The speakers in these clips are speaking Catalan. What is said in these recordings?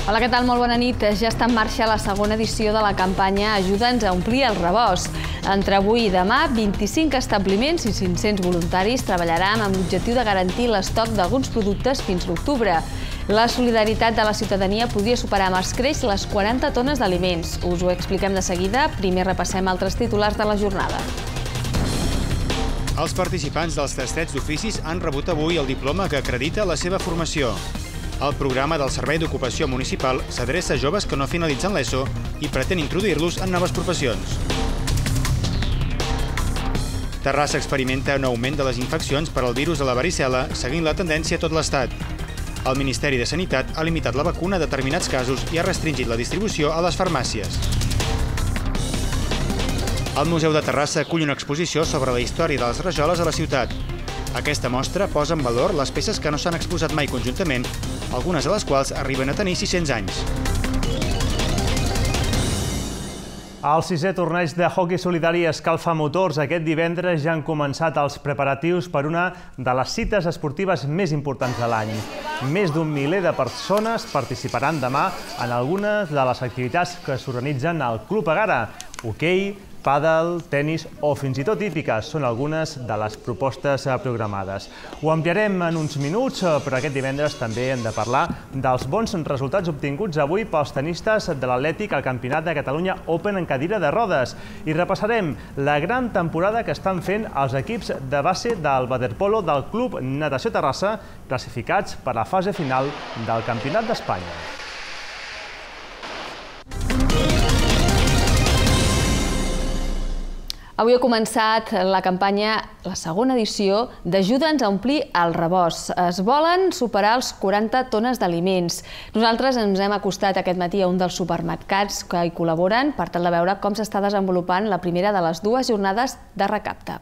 Hola, què tal? Molt bona nit. Ja està en marxa la segona edició de la campanya Ajuda'ns a omplir el rebost. Entre avui i demà, 25 establiments i 500 voluntaris treballaran amb l'objectiu de garantir l'estoc d'alguns productes fins l'octubre. La solidaritat de la ciutadania podria superar amb escreix les 40 tones d'aliments. Us ho expliquem de seguida. Primer repassem altres titulars de la jornada. Els participants dels tastets d'oficis han rebut avui el diploma que acredita la seva formació. El programa del Servei d'Ocupació Municipal s'adreça a joves que no finalitzen l'ESO i pretén introduir-los en noves professions. Terrassa experimenta un augment de les infeccions per al virus de la varicel·la, seguint la tendència a tot l'Estat. El Ministeri de Sanitat ha limitat la vacuna a determinats casos i ha restringit la distribució a les farmàcies. El Museu de Terrassa acull una exposició sobre la història de les rajoles a la ciutat. Aquesta mostra posa en valor les peces que no s'han exposat mai conjuntament, algunes de les quals arriben a tenir 600 anys. El sisè torneig de hoquei solidari escalfa motors. Aquest divendres ja han començat els preparatius per una de les cites esportives més importants de l'any. Més d'un miler de persones participaran demà en algunes de les activitats que s'organitzen al Club Egara. Hoquei, pàdel, tenis o fins i tot hípica són algunes de les propostes programades. Ho ampliarem en uns minuts, però aquest divendres també hem de parlar dels bons resultats obtinguts avui pels tenistes de l'Atlètic al Campionat de Catalunya Open en cadira de rodes. I repassarem la gran temporada que estan fent els equips de base del waterpolo del Club Natació Terrassa, classificats per a la fase final del Campionat d'Espanya. Avui ha començat la campanya, la segona edició d'Ajuda'ns a omplir el rebost. Es volen superar els 40 tones d'aliments. Nosaltres ens hem acostat aquest matí a un dels supermercats que hi col·laboren per tal de veure com s'està desenvolupant la primera de les dues jornades de recapte.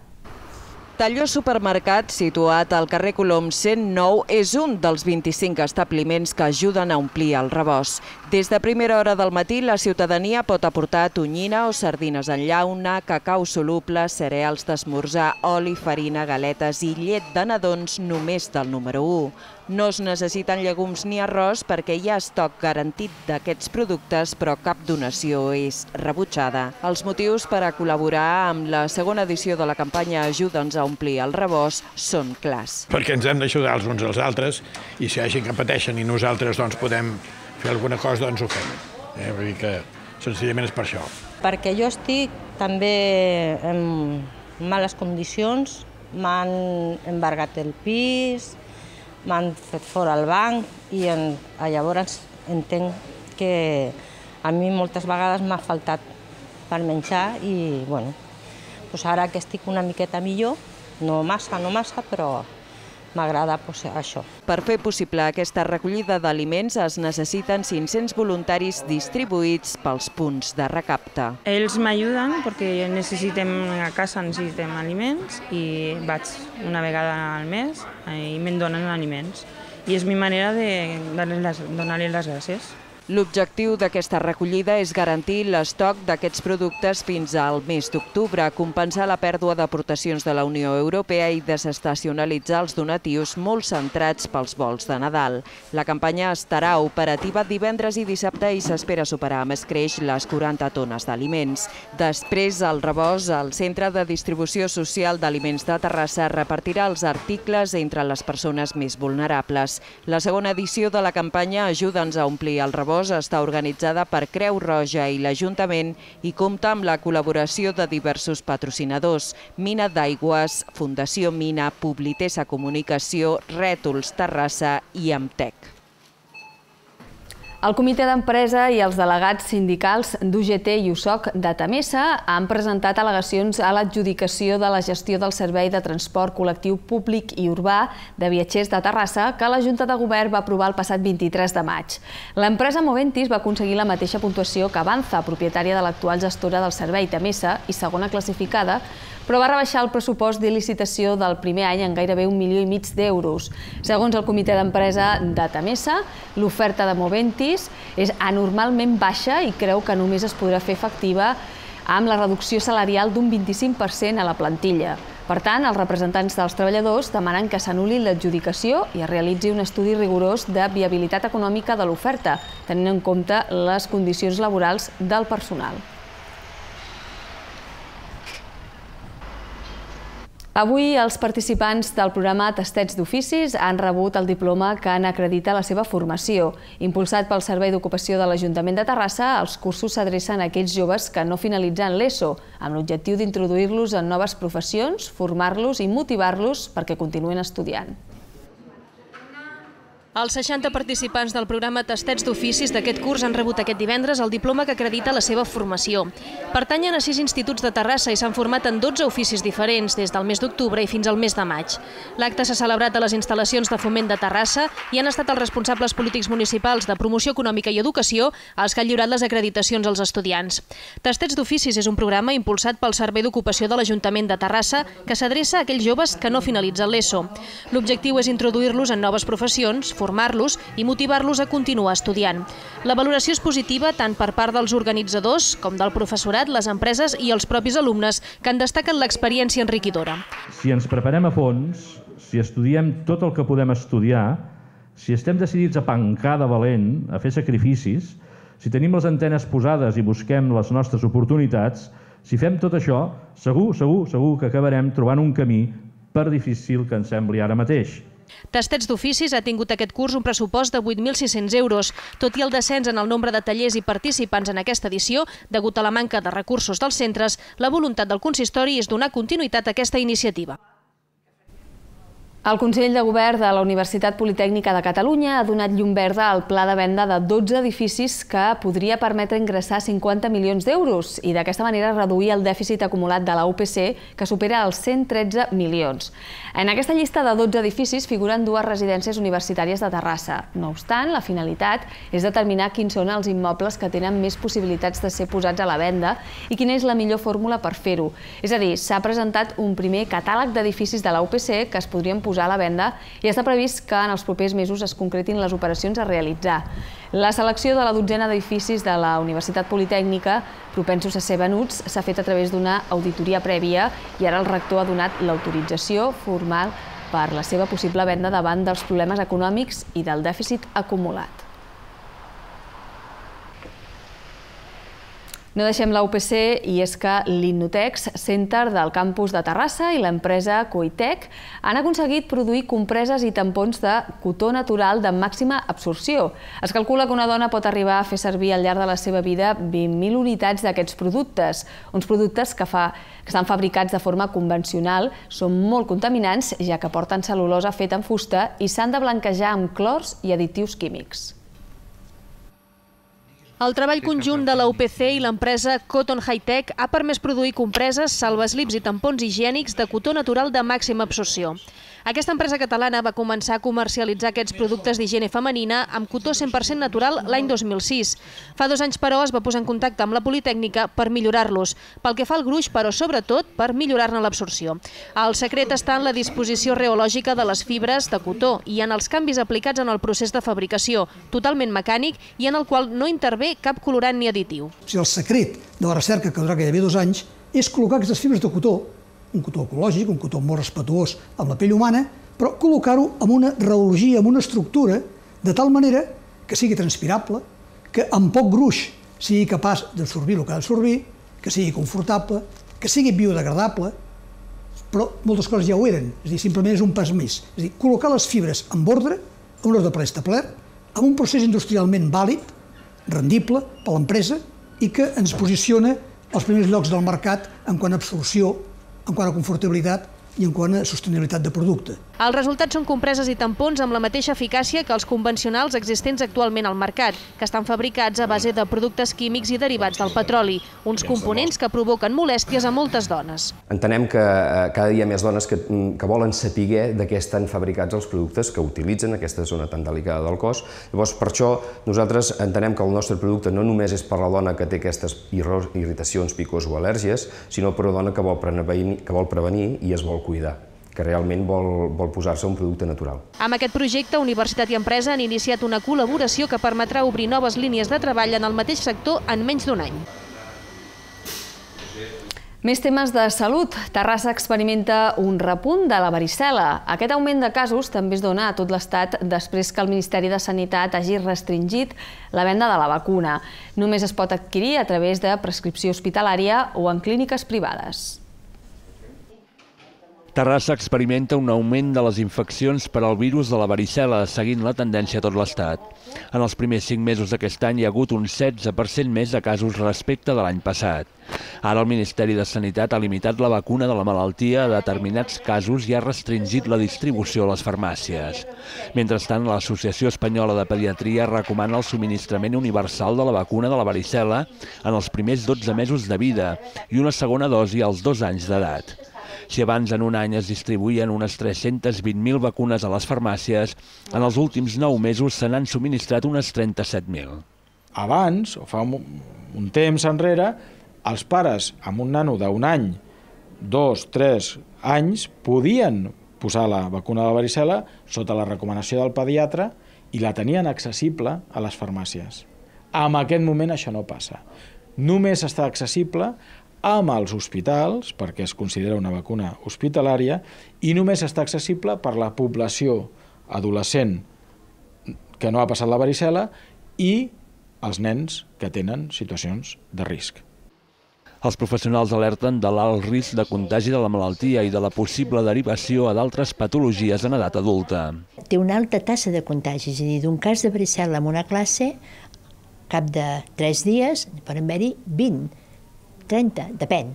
Talló Supermercat, situat al carrer Colom 109, és un dels 25 establiments que ajuden a omplir el rebost. Des de primera hora del matí, la ciutadania pot aportar tonyina o sardines en llauna, cacau soluble, cereals d'esmorzar, oli, farina, galetes i llet de nadons només del número 1. No es necessiten llegums ni arròs perquè hi ha estoc garantit d'aquests productes, però cap donació és rebutjada. Els motius per a col·laborar amb la segona edició de la campanya Ajuda'ns a omplir el rebost són clars. Perquè ens hem d'ajudar els uns als altres i si hi ha gent que pateixen i nosaltres podem fer alguna cosa, doncs ho fem. Vull dir que senzillament és per això. Perquè jo estic també en males condicions, m'han embargat el pis, m'han fet fora el banc i llavors entenc que a mi moltes vegades m'ha faltat per menjar i ara que estic una miqueta millor, no massa, però m'agrada això. Per fer possible aquesta recollida d'aliments es necessiten 500 voluntaris distribuïts pels punts de recapte. Ells m'ajuden perquè a casa necessitem aliments i vaig una vegada al mes i me'n donen aliments. I és mi manera de donar-li les gràcies. L'objectiu d'aquesta recollida és garantir l'estoc d'aquests productes fins al mes d'octubre, compensar la pèrdua d'aportacions de la Unió Europea i desestacionalitzar els donatius molt centrats pels vols de Nadal. La campanya estarà operativa divendres i dissabte i s'espera superar amb escreix les 40 tones d'aliments. Després, el rebost, el Centre de Distribució Social d'Aliments de Terrassa repartirà els articles entre les persones més vulnerables. La segona edició de la campanya Ajuda'ns a omplir el rebost està organitzada per Creu Roja i l'Ajuntament i compta amb la col·laboració de diversos patrocinadors: Mina d'Aigües, Fundació Mina, Publitesa Comunicació, Rètols Terrassa i Amtec. El comitè d'empresa i els delegats sindicals d'UGT i USOC de Temesa han presentat al·legacions a l'adjudicació de la gestió del servei de transport col·lectiu públic i urbà de viatgers de Terrassa que la Junta de Govern va aprovar el passat 23 de maig. L'empresa Moventis va aconseguir la mateixa puntuació que Avanza, propietària de l'actual gestora del servei Temesa i segona classificada, però va rebaixar el pressupost de licitació del primer any en gairebé 1,5 milió d'euros. Segons el comitè d'empresa de Temesa, l'oferta de Moventis és anormalment baixa i creu que només es podrà fer efectiva amb la reducció salarial d'un 25% a la plantilla. Per tant, els representants dels treballadors demanen que s'anul·li l'adjudicació i es realitzi un estudi rigorós de viabilitat econòmica de l'oferta, tenint en compte les condicions laborals del personal. Avui els participants del programa Tastets d'Oficis han rebut el diploma que n'acredita la seva formació. Impulsat pel Servei d'Ocupació de l'Ajuntament de Terrassa, els cursos s'adrecen a aquells joves que no finalitzen l'ESO, amb l'objectiu d'introduir-los en noves professions, formar-los i motivar-los perquè continuen estudiant. Els 60 participants del programa Tastets d'Oficis d'aquest curs han rebut aquest divendres el diploma que acredita la seva formació. Pertanyen a 6 instituts de Terrassa i s'han format en 12 oficis diferents des del mes d'octubre i fins al mes de maig. L'acte s'ha celebrat a les instal·lacions de Foment de Terrassa i han estat els responsables polítics municipals de Promoció Econòmica i Educació els que han lliurat les acreditacions als estudiants. Tastets d'Oficis és un programa impulsat pel Servei d'Ocupació de l'Ajuntament de Terrassa que s'adreça a aquells joves que no finalitzen l'ESO. L'objectiu és introduir-los en noves professions, formar-los i motivar-los a continuar estudiant. La valoració és positiva tant per part dels organitzadors com del professorat, les empreses i els propis alumnes, que en destaquen l'experiència enriquidora. Si ens preparem a fons, si estudiem tot el que podem estudiar, si estem decidits a pencar de valent, a fer sacrificis, si tenim les antenes posades i busquem les nostres oportunitats, si fem tot això, segur que acabarem trobant un camí, per difícil que ens sembli ara mateix. Tastets d'Oficis ha tingut aquest curs un pressupost de 8.600 euros. Tot i el descens en el nombre de tallers i participants en aquesta edició, degut a la manca de recursos dels centres, la voluntat del consistori és donar continuïtat a aquesta iniciativa. El Consell de Govern de la Universitat Politècnica de Catalunya ha donat llum verda al pla de venda de 12 edificis que podria permetre ingressar 50 milions d'euros i d'aquesta manera reduir el dèficit acumulat de la UPC, que supera els 113 milions. En aquesta llista de 12 edificis figuren 2 residències universitàries de Terrassa. No obstant, la finalitat és determinar quins són els immobles que tenen més possibilitats de ser posats a la venda i quina és la millor fórmula per fer-ho. És a dir, s'ha presentat un primer catàleg d'edificis de la UPC que es podrien posar a la venda i està previst que en els propers mesos es concretin les operacions a realitzar. La selecció de la 12ena d'edificis de la Universitat Politècnica, propensos a ser venuts, s'ha fet a través d'una auditoria prèvia i ara el rector ha donat l'autorització formal per la seva possible venda davant dels problemes econòmics i del dèficit acumulat. No deixem la UPC i és que l'Innotex Center del campus de Terrassa i l'empresa Coitec han aconseguit produir compreses i tampons de cotó natural de màxima absorció. Es calcula que una dona pot arribar a fer servir al llarg de la seva vida 20.000 unitats d'aquests productes. Uns productes que estan fabricats de forma convencional, són molt contaminants ja que porten cel·lulosa feta en fusta i s'han de blanquejar amb clors i additius químics. El treball conjunt de la UPC i l'empresa Cotton High Tech ha permès produir compreses, salvaslips i tampons higiènics de cotó natural de màxima absorció. Aquesta empresa catalana va començar a comercialitzar aquests productes d'higiene femenina amb cotó 100% natural l'any 2006. Fa 2 anys, però, es va posar en contacte amb la Politècnica per millorar-los, pel que fa al gruix, però sobretot per millorar-ne l'absorció. El secret està en la disposició reològica de les fibres de cotó i en els canvis aplicats en el procés de fabricació, totalment mecànic i en el qual no intervé cap colorant ni additiu. El secret de la recerca, que durarà gairebé 2 anys, és col·locar aquestes fibres de cotó, un cotó ecològic, un cotó molt respetuós amb la pell humana, però col·locar-ho amb una reologia, amb una estructura, de tal manera que sigui transpirable, que amb poc gruix sigui capaç d'absorbir el que ha d'absorbir, que sigui confortable, que sigui biodegradable, però moltes coses ja ho eren, és a dir, simplement és un pas més. És a dir, col·locar les fibres en ordre, en un ordre preestablert, amb un procés industrialment vàlid, rendible per l'empresa i que ens posiciona als primers llocs del mercat en quant a absorció, en quant a confortabilitat i en quant a sostenibilitat de producte. Els resultats són compreses i tampons amb la mateixa eficàcia que els convencionals existents actualment al mercat, que estan fabricats a base de productes químics i derivats del petroli, uns components que provoquen molèsties a moltes dones. Entenem que cada dia hi ha més dones que volen saber de què estan fabricats els productes que utilitzen aquesta zona tan delicada del cos. Llavors, per això, nosaltres entenem que el nostre producte no només és per la dona que té aquestes irritacions, picors o al·lèrgies, sinó per una dona que vol prevenir i es vol cuidar, que realment vol posar-se un producte natural. Amb aquest projecte, Universitat i Empresa han iniciat una col·laboració que permetrà obrir noves línies de treball en el mateix sector en menys d'1 any. Més temes de salut. Terrassa experimenta un repunt de la varicel·la. Aquest augment de casos també es dona a tot l'Estat després que el Ministeri de Sanitat hagi restringit la venda de la vacuna. Només es pot adquirir a través de prescripció hospitalària o en clíniques privades. Terrassa experimenta un augment de les infeccions per al virus de la varicel·la, seguint la tendència a tot l'Estat. En els primers 5 mesos d'aquest any hi ha hagut un 16% més de casos respecte de l'any passat. Ara el Ministeri de Sanitat ha limitat la vacuna de la malaltia a determinats casos i ha restringit la distribució a les farmàcies. Mentrestant, l'Associació Espanyola de Pediatria recomana el subministrament universal de la vacuna de la varicel·la en els primers 12 mesos de vida i una segona dosi als 2 anys d'edat. Si abans en un any es distribuïen unes 320.000 vacunes a les farmàcies, en els últims 9 mesos se n'han subministrat unes 37.000. Abans, o fa un temps enrere, els pares amb un nano d'un any, 2, 3 anys, podien posar la vacuna de la varicel·la sota la recomanació del pediatre i la tenien accessible a les farmàcies. En aquest moment això no passa. Només està accessible amb els hospitals, perquè es considera una vacuna hospitalària, i només està accessible per la població adolescent que no ha passat la varicel·la i els nens que tenen situacions de risc. Els professionals alerten de l'alt risc de contagi de la malaltia i de la possible derivació a d'altres patologies en edat adulta. Té una alta tassa de contagi, és a dir, d'un cas de varicel·la en una classe, cap de 3 dies poden haver-hi 20, 30, depèn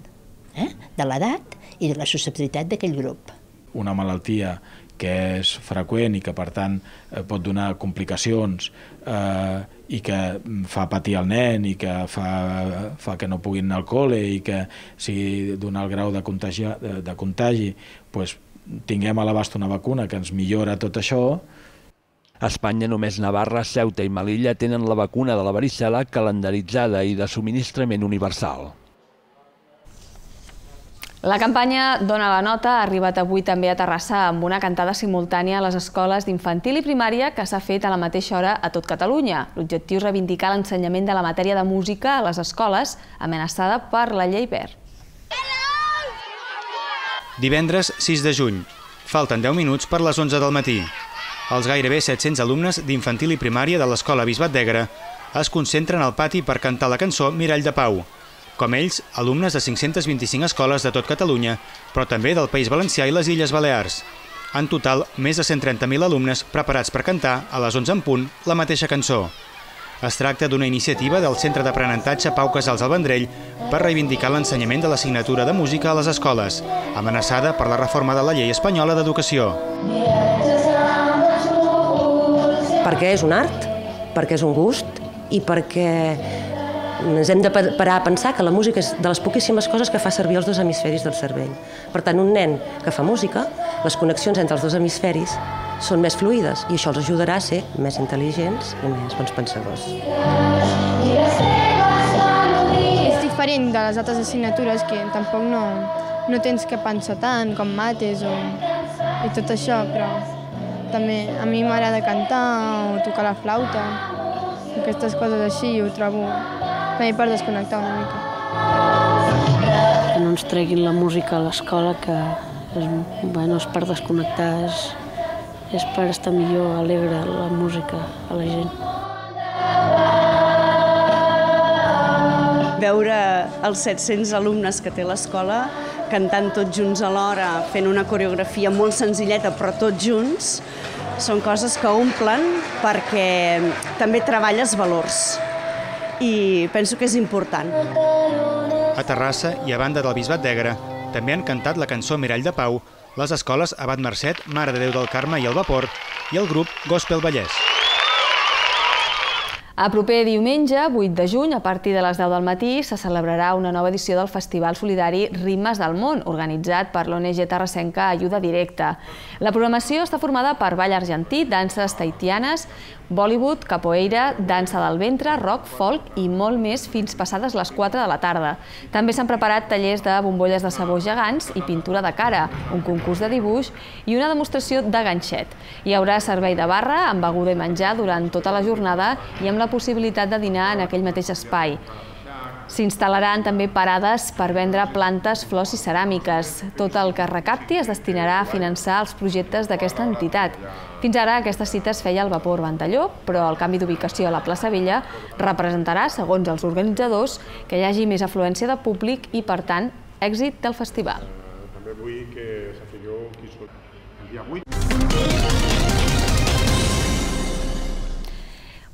de l'edat i de la susceptibilitat d'aquell grup. Una malaltia que és freqüent i que, per tant, pot donar complicacions i que fa patir el nen i que fa que no puguin anar al col·le i que sigui d'un alt grau de contagi, tinguem a l'abast una vacuna que ens millora tot això. A Espanya només Navarra, Ceuta i Melilla tenen la vacuna de la varicel·la calendaritzada i de subministrament universal. La campanya Dona la nota ha arribat avui també a Terrassa amb una cantada simultània a les escoles d'infantil i primària que s'ha fet a la mateixa hora a tot Catalunya. L'objectiu és reivindicar l'ensenyament de la matèria de música a les escoles, amenaçada per la llei Wert. Divendres 6 de juny. Falten 10 minuts per les 11 del matí. Els gairebé 700 alumnes d'infantil i primària de l'Escola Bisbat d'Egra es concentren al pati per cantar la cançó Mirall de Pau. Com ells, alumnes de 525 escoles de tot Catalunya, però també del País Valencià i les Illes Balears. En total, més de 130.000 alumnes preparats per cantar, a les 11 en punt, la mateixa cançó. Es tracta d'una iniciativa del Centre d'Aprenentatge Pau Casals al Vendrell per reivindicar l'ensenyament de l'assignatura de música a les escoles, amenaçada per la reforma de la llei espanyola d'educació. Perquè és un art, perquè és un gust i perquè ens hem de parar a pensar que la música és de les poquíssimes coses que fa servir els 2 hemisferis del cervell. Per tant, un nen que fa música, les connexions entre els 2 hemisferis són més fluides i això els ajudarà a ser més intel·ligents i més bons pensadors. És diferent de les altres assignatures que tampoc no tens que pensar tant com mates i tot això, però també a mi m'agrada cantar o tocar la flauta, aquestes coses així, ho trobo també per desconnectar una mica. Que no ens treguin la música a l'escola, que és per desconnectar, és per estar millor, alegre la música a la gent. Veure els 700 alumnes que té l'escola cantant tots junts alhora, fent una coreografia molt senzilleta però tots junts, són coses que omplen perquè també treballes valors i penso que és important. A Terrassa i a banda del Bisbat d'Egra també han cantat la cançó Mirall de Pau les escoles Abat Mercet, Mare de Déu del Carme i el Vapor i el grup Gospel Vallès. A proper diumenge, 8 de juny, a partir de les 10 del matí, se celebrarà una nova edició del Festival Solidari Ritmes del Món, organitzat per l'ONG terrassenca Ajuda Directa. La programació està formada per ball argentí, danses tahitianes, Bollywood, capoeira, dansa del ventre, rock, folk i molt més fins passades les 4 de la tarda. També s'han preparat tallers de bombolles de sabó gegants i pintura de cara, un concurs de dibuix i una demostració de ganxet. Hi haurà servei de barra amb beguda i menjar durant tota la jornada i amb la possibilitat de dinar en aquell mateix espai. S'instal·laran també parades per vendre plantes, flors i ceràmiques. Tot el que es recapti es destinarà a finançar els projectes d'aquesta entitat. Fins ara aquesta cita es feia al Vapor Ventalló, però el canvi d'ubicació a la plaça Vella representarà, segons els organitzadors, que hi hagi més afluència de públic i, per tant, èxit del festival. També vull que sapigueu qui són el dia 8.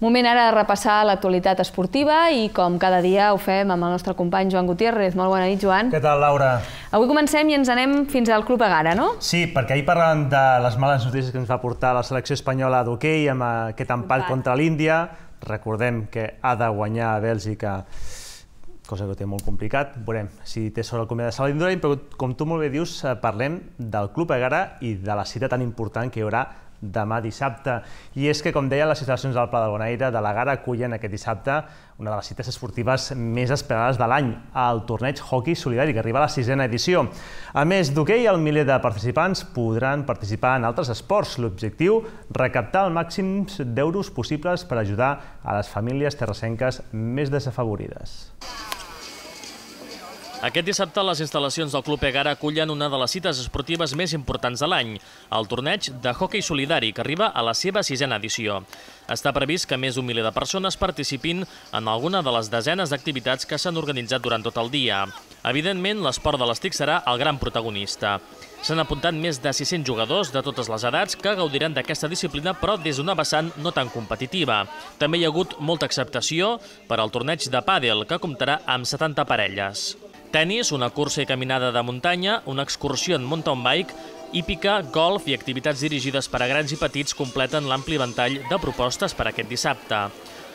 Moment ara de repassar l'actualitat esportiva i, com cada dia, ho fem amb el nostre company Joan Gutiérrez. Molt bona nit, Joan. Què tal, Laura? Avui comencem i ens anem fins al Club Egara, no? Sí, perquè ahir parlàvem de les males notícies que ens va portar la selecció espanyola d'hoquei amb aquest empat contra l'Índia. Recordem que ha de guanyar a Bèlgica, cosa que ho té molt complicat. Veurem si té sort el comitè de Salvador Indurain, però com tu molt bé dius, parlem del Club Egara i de la cita tan important que hi haurà demà dissabte. I és que, com deia, les instal·lacions del Pla del Bonaire de l'Egara acullen aquest dissabte una de les cites esportives més esperades de l'any, el torneig Hockey Solidari, que arriba a la 6a edició. A més d'hoquei, el miler de participants podran participar en altres esports. L'objectiu, recaptar el màxim d'euros possibles per ajudar a les famílies terrassenques més desafavorides. Aquest dissabte, les instal·lacions del Club Egara acullen una de les cites esportives més importants de l'any, el torneig de hoquei solidari, que arriba a la seva 6a edició. Està previst que més d'un miler de persones participin en alguna de les desenes d'activitats que s'han organitzat durant tot el dia. Evidentment, l'esport de l'estic serà el gran protagonista. S'han apuntat més de 600 jugadors de totes les edats que gaudiran d'aquesta disciplina, però des d'una vessant no tan competitiva. També hi ha hagut molta acceptació per al torneig de pàdel, que comptarà amb 70 parelles. Tenis, una cursa i caminada de muntanya, una excursió en mountain bike, hípica, golf i activitats dirigides per a grans i petits completen l'ampli ventall de propostes per aquest dissabte.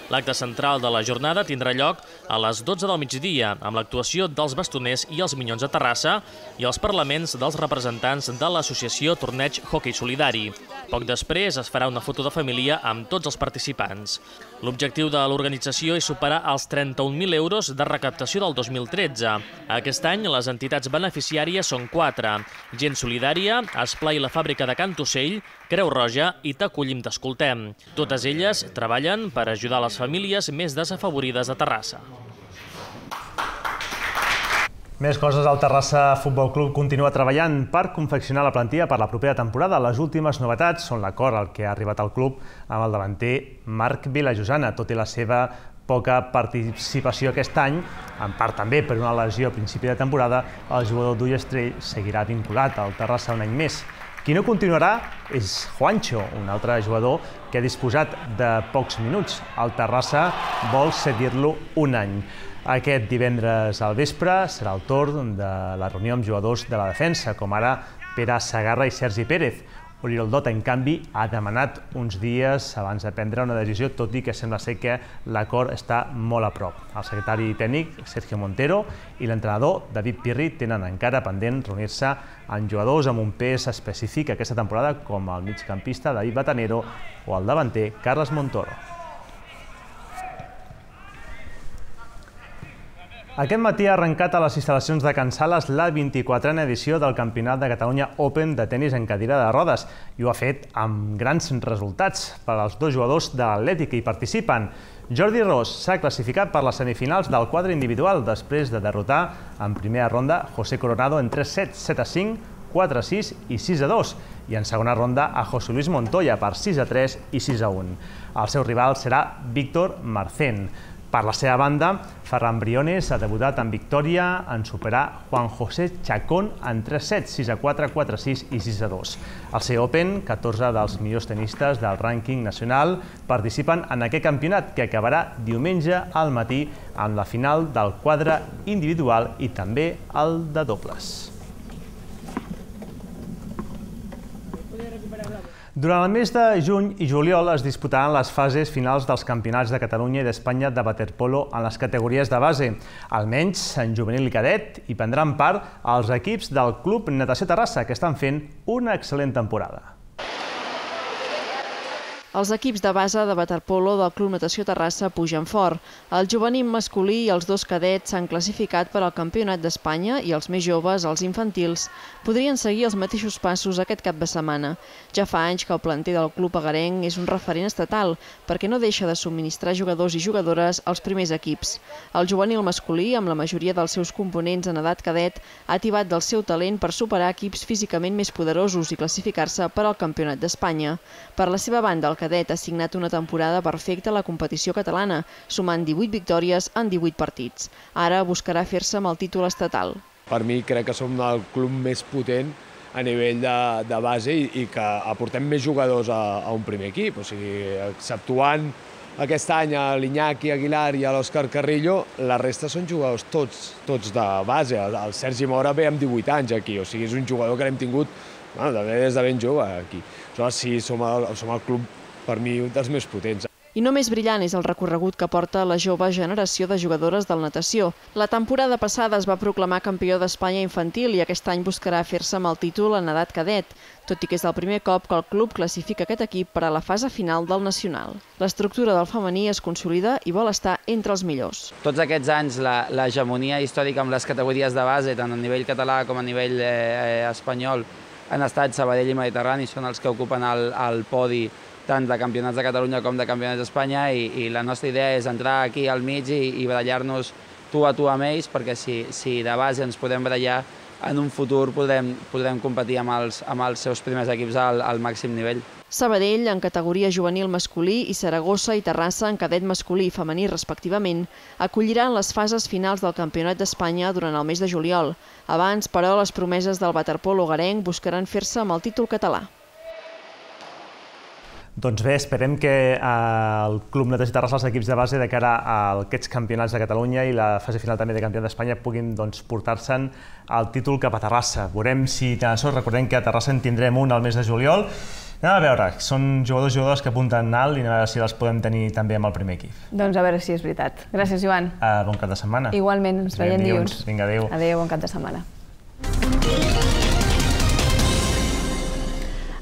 L'acte central de la jornada tindrà lloc a les 12 del migdia, amb l'actuació dels bastoners i els Minyons de Terrassa i els parlaments dels representants de l'associació Torneig Hockey Solidari. Poc després es farà una foto de família amb tots els participants. L'objectiu de l'organització és superar els 31.000 euros de recaptació del 2013. Aquest any les entitats beneficiàries són 4. Gent Solidària, Esplai la Fàbrica de Can Tussell, Creu Roja i T'Acollim T'Escoltem. Totes elles treballen per ajudar les famílies més desafavorides de Terrassa. Més coses, el Terrassa Futbol Club continua treballant per confeccionar la plantilla per la propera temporada. Les últimes novetats són l'acord al que ha arribat el club amb el davanter Marc Vilajosana, tot i la seva poca participació aquest any, en part també per una lesió a principi de temporada, el jugador d'Ullastrell seguirà vinculat al Terrassa un any més. Qui no continuarà és Juancho, un altre jugador que ha disposat de pocs minuts. El Terrassa vol cedir-lo un any. Aquest divendres al vespre serà el torn de la reunió amb jugadors de la defensa, com ara Pere Segarra i Sergi Pérez. Oriol Dot, en canvi, ha demanat uns dies abans de prendre una decisió, tot i que sembla ser que l'acord està molt a prop. El secretari tècnic, Sergio Montero, i l'entrenador, David Pirri, tenen encara pendent reunir-se amb jugadors amb un pes específic aquesta temporada, com el migcampista David Batanero o el davanter Carles Montoro. Aquest matí ha arrencat a les instal·lacions de Can Sales la 24a edició del Campionat de Catalunya Open de tenis en cadira de rodes i ho ha fet amb grans resultats per als dos jugadors de l'Atlètic que hi participen. Jordi Ros s'ha classificat per les semifinals del quadre individual després de derrotar en primera ronda José Coronado en 3-7, 7-5, 4-6 i 6-2 i en segona ronda a José Luis Montoya per 6-3 i 6-1. El seu rival serà Víctor Marcén. Per la seva banda, Ferran Briones ha debutat en victòria en superar Juan José Chacón en 3-7, 6-4, 4-6 i 6-2. Al CE Open, 14 dels millors tenistes del rànquing nacional participen en aquest campionat que acabarà diumenge al matí amb la final del quadre individual i també el de dobles. Durant el mes de juny i juliol es disputaran les fases finals dels campionats de Catalunya i d'Espanya de waterpolo en les categories de base. Almenys en juvenil i cadet hi prendran part els equips del Club Natació Terrassa, que estan fent una excel·lent temporada. Els equips de base de waterpolo del Club Natació Terrassa pugen fort. El juvenil masculí i els dos cadets s'han classificat per al Campionat d'Espanya i els més joves, els infantils, podrien seguir els mateixos passos aquest cap de setmana. Ja fa anys que el planter del club agarenc és un referent estatal perquè no deixa de subministrar jugadors i jugadores als primers equips. El juvenil masculí, amb la majoria dels seus components en edat cadet, ha tibat del seu talent per superar equips físicament més poderosos i classificar-se per al Campionat d'Espanya. Per la seva banda, el cadet ha signat una temporada perfecta a la competició catalana, sumant 18 victòries en 18 partits. Ara buscarà fer-se amb el títol estatal. Per mi crec que som el club més potent a nivell de base i que aportem més jugadors a un primer equip. O sigui, exceptuant aquest any a l'Iñaki Aguilar i a l'Òscar Carrillo, la resta són jugadors tots de base. El Sergi Mora ve amb 18 anys aquí, o sigui, és un jugador que l'hem tingut des de ben jove aquí. Sí, som el club, per mi, un dels més potents. I no més brillant és el recorregut que porta la jove generació de jugadores del natació. La temporada passada es va proclamar campió d'Espanya infantil i aquest any buscarà fer-se amb el títol en edat cadet, tot i que és el primer cop que el club classifica aquest equip per a la fase final del nacional. L'estructura del femení es consolida i vol estar entre els millors. Tots aquests anys l'hegemonia històrica amb les categories de base, tant a nivell català com a nivell espanyol, han estat Sabadell i Mediterrani, són els que ocupen el podi tant de campionats de Catalunya com de campionats d'Espanya i la nostra idea és entrar aquí al mig i barallar-nos tu a tu amb ells, perquè si de base ens podem barallar, en un futur podrem competir amb els seus primers equips al màxim nivell. Sabadell, en categoria juvenil masculí, i Saragossa i Terrassa, en cadet masculí i femení respectivament, acolliran les fases finals del Campionat d'Espanya durant el mes de juliol. Abans, però, les promeses del waterpolo agarenc buscaran fer-se amb el títol català. Doncs bé, esperem que el Club Natació Terrassa, els equips de base de cara a aquests campionats de Catalunya i la fase final també de Campionat d'Espanya puguin portar-se'n el títol cap a Terrassa. Veurem si tenen sort, recordem que a Terrassa en tindrem un al mes de juliol. Anem a veure, són jugadors que apunten alt i anem a veure si els podem tenir també amb el primer equip. Doncs a veure si és veritat. Gràcies, Joan. Bon cap de setmana. Igualment, ens veiem dilluns. Vinga, adéu. Adéu, bon cap de setmana.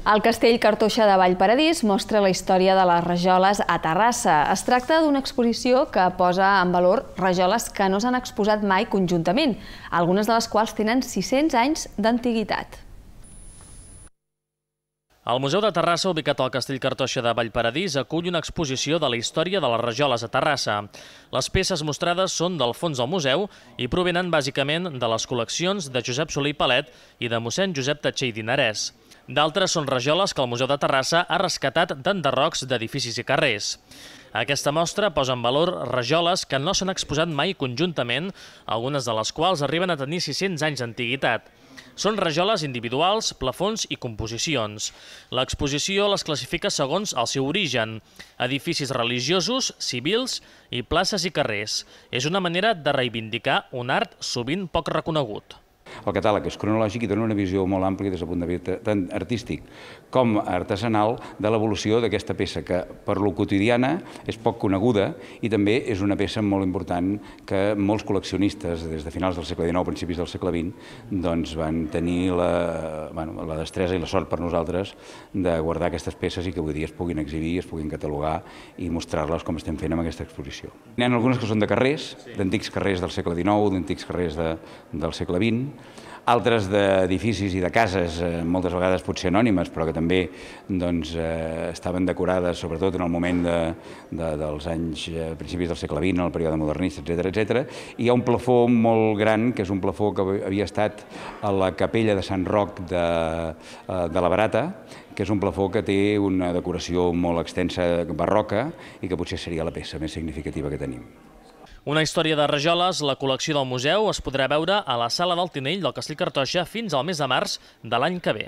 El Castell Cartoixa de Vallparadís mostra la història de les rajoles a Terrassa. Es tracta d'una exposició que posa en valor rajoles que no s'han exposat mai conjuntament, algunes de les quals tenen 600 anys d'antiguitat. El Museu de Terrassa, ubicat al Castell Cartoixa de Vallparadís, acull una exposició de la història de les rajoles a Terrassa. Les peces mostrades són del fons del museu i provenen bàsicament de les col·leccions de Josep Soler i Palet i de mossèn Josep Tatxer i Dinarès. D'altres són rajoles que el Museu de Terrassa ha rescatat d'enderrocs d'edificis i carrers. Aquesta mostra posa en valor rajoles que no s'han exposat mai conjuntament, algunes de les quals arriben a tenir 600 anys d'antiguitat. Són rajoles individuals, plafons i composicions. L'exposició les classifica segons el seu origen: edificis religiosos, civils i places i carrers. És una manera de reivindicar un art sovint poc reconegut. El catàleg és cronològic i dona una visió molt àmplia des del punt de vista tant artístic com artesanal de l'evolució d'aquesta peça, que per lo quotidiana és poc coneguda i també és una peça molt important que molts col·leccionistes des de finals del segle XIX, principis del segle XX, van tenir la destresa i la sort per nosaltres de guardar aquestes peces i que avui dia es puguin exhibir, es puguin catalogar i mostrar-les com estem fent amb aquesta exposició. N'hi ha algunes que són de carrers, d'antics carrers del segle XIX, d'antics carrers del segle XX, altres d'edificis i de cases, moltes vegades potser anònimes, però que també estaven decorades, sobretot en el moment dels anys principis del segle XX, en el període modernista, etc. Hi ha un plafó molt gran, que és un plafó que havia estat a la capella de Sant Roc de la Barata, que és un plafó que té una decoració molt extensa barroca i que potser seria la peça més significativa que tenim. Una història de rajoles, la col·lecció del museu, es podrà veure a la Sala del Tinell del Castell Cartoixa fins al mes de març de l'any que ve.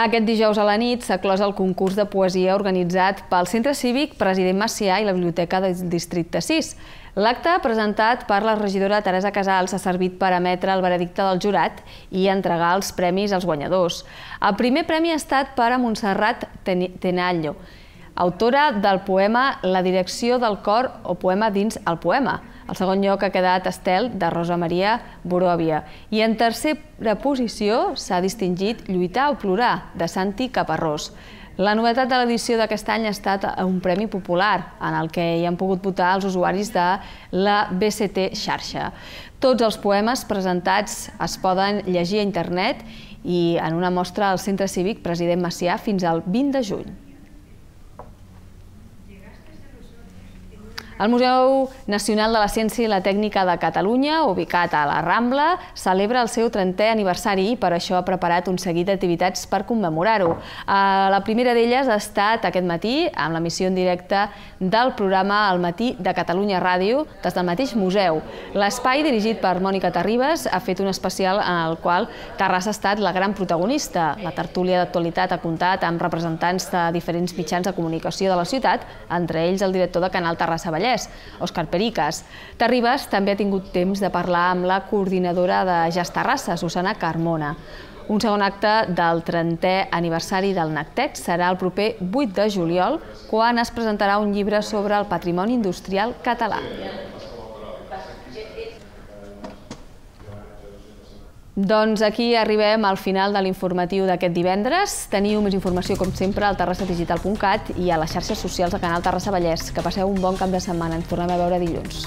Aquest dijous a la nit s'ha clos el concurs de poesia organitzat pel Centre Cívic President Macià i la Biblioteca del Districte 6. L'acte, presentat per la regidora Teresa Casals, ha servit per emetre el veredicte del jurat i entregar els premis als guanyadors. El primer premi ha estat per a Montserrat Tenallo, autora del poema La direcció del cor o poema dins el poema. El segon lloc ha quedat Estel, de Rosa Maria Boròvia. I en tercera posició s'ha distingit Lluitar o plorar, de Santi Caparrós. La novetat de l'edició d'aquest any ha estat un premi popular, en el que hi han pogut votar els usuaris de la BCT xarxa. Tots els poemes presentats es poden llegir a internet i en una mostra al Centre Cívic President Macià fins al 20 de juny. El Museu Nacional de la Ciència i la Tècnica de Catalunya, ubicat a la Rambla, celebra el seu 30è aniversari i per això ha preparat un seguit d'activitats per commemorar-ho. La primera d'elles ha estat aquest matí amb l'emissió en directe del programa Al matí de Catalunya Ràdio des del mateix museu. L'espai, dirigit per Mònica Terribas, ha fet un especial en el qual Terrassa ha estat la gran protagonista. La tertúlia d'actualitat ha comptat amb representants de diferents mitjans de comunicació de la ciutat, entre ells el director de Canal Terrassa Vallès, Òscar Pericas. Terribas també ha tingut temps de parlar amb la coordinadora de Jazz Terrassa, Susana Carmona. Un segon acte del 30è aniversari del NACTEC serà el proper 8 de juliol, quan es presentarà un llibre sobre el patrimoni industrial català. Doncs aquí arribem al final de l'informatiu d'aquest divendres. Teniu més informació, com sempre, al terrassadigital.cat i a les xarxes socials de Canal Terrassa Vallès. Que passeu un bon cap de setmana. Ens tornem a veure dilluns.